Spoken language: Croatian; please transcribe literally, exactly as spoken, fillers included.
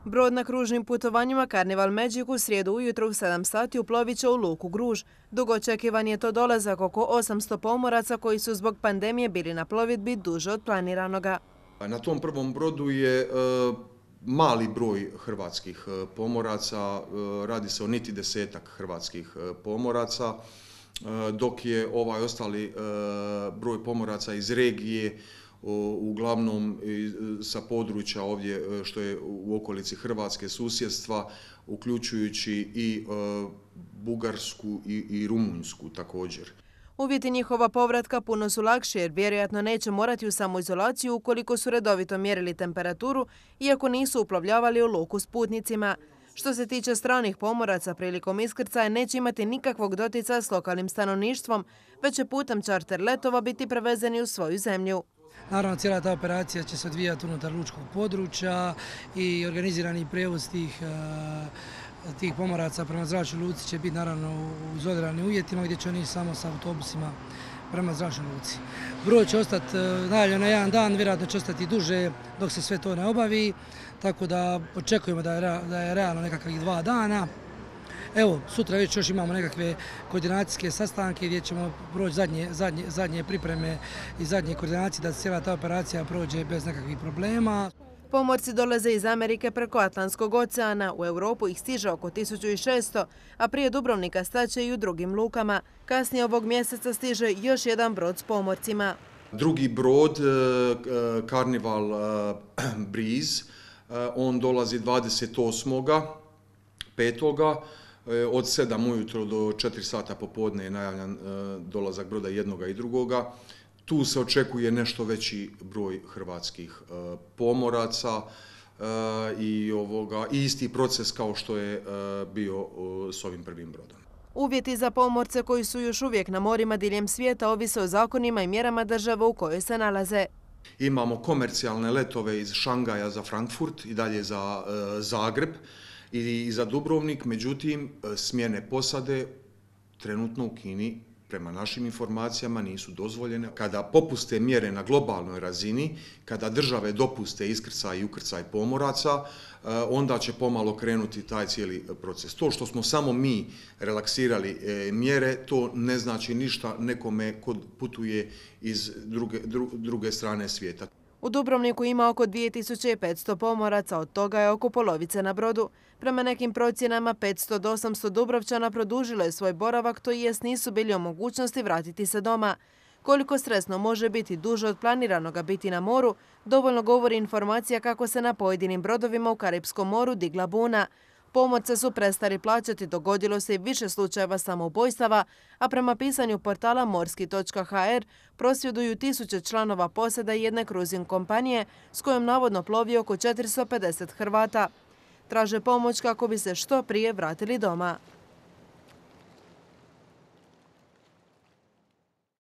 Brod na kružnim putovanjima Carnival Magic u srijedu ujutro u sedam sati uplovit će u luku Gruž. Dugo očekivan je to dolazak oko osamsto pomoraca koji su zbog pandemije bili na plovidbi duže od planiranoga. Na tom prvom brodu je e, mali broj hrvatskih pomoraca, e, radi se o niti desetak hrvatskih pomoraca, e, dok je ovaj ostali e, broj pomoraca iz regije, uglavnom sa područja ovdje što je u okolici Hrvatske, susjedstva, uključujući i Bugarsku i Rumunjsku također. Uvjeti njihova povratka puno su lakši jer vjerojatno neće morati u samoizolaciju ukoliko su redovito mjerili temperaturu, iako nisu uplovljavali u luku s putnicima. Što se tiče stranih pomoraca, prilikom iskrcaja neće imati nikakvog dotica s lokalnim stanovništvom, već će putem čarter letova biti prevezeni u svoju zemlju. Naravno, cijela ta operacija će se odvijati unutar lučkog područja i organizirani prijevoz tih, tih pomoraca prema zračnoj luci će biti naravno u izoliranim uvjetima gdje će oni samo sa autobusima prema zračnoj luci. Brod će ostati najavljen na jedan dan, vjerojatno će ostati duže dok se sve to ne obavi, tako da očekujemo da je, da je realno nekakvih dva dana. Evo, sutra već još imamo nekakve koordinacijske sastanke gdje ćemo proći zadnje, zadnje, zadnje pripreme i zadnje koordinacije da cijela ta operacija prođe bez nekakvih problema. Pomorci dolaze iz Amerike preko Atlantskog oceana, u Europu ih stiže oko tisuću šesto, a prije Dubrovnika staće i u drugim lukama. Kasnije ovog mjeseca stiže još jedan brod s pomorcima. Drugi brod, Carnival Breeze, on dolazi dvadeset osmoga petoga Od sedam ujutro do četiri sata popodne je najavljan dolazak broda jednoga i drugoga. Tu se očekuje nešto veći broj hrvatskih pomoraca i, ovoga, i isti proces kao što je bio s ovim prvim brodom. Uvjeti za pomorce koji su još uvijek na morima diljem svijeta ovise o zakonima i mjerama države u kojoj se nalaze. Imamo komercijalne letove iz Šangaja za Frankfurt i dalje za Zagreb i za Dubrovnik, međutim, smjene posade trenutno u Kini, prema našim informacijama, nisu dozvoljene. Kada popuste mjere na globalnoj razini, kada države dopuste iskrcaj i ukrcaj pomoraca, onda će pomalo krenuti taj cijeli proces. To što smo samo mi relaksirali mjere, to ne znači ništa nekome ko putuje iz druge, druge strane svijeta. U Dubrovniku ima oko dvije tisuće petsto pomoraca, od toga je oko polovice na brodu. Prema nekim procjenama petsto do osamsto Dubrovčana produžilo je svoj boravak, to jest nisu bili u mogućnosti vratiti se doma. Koliko stresno može biti duže od planiranoga biti na moru, dovoljno govori informacija kako se na pojedinim brodovima u Karipskom moru digla buna. Pomorce su prestali plaćati, dogodilo se i više slučajeva samoubojstava, a prema pisanju portala morski točka ha er prosvjeduju tisuće članova posada jedne kruzing kompanije s kojom navodno plovi oko četiristo pedeset Hrvata. Traže pomoć kako bi se što prije vratili doma.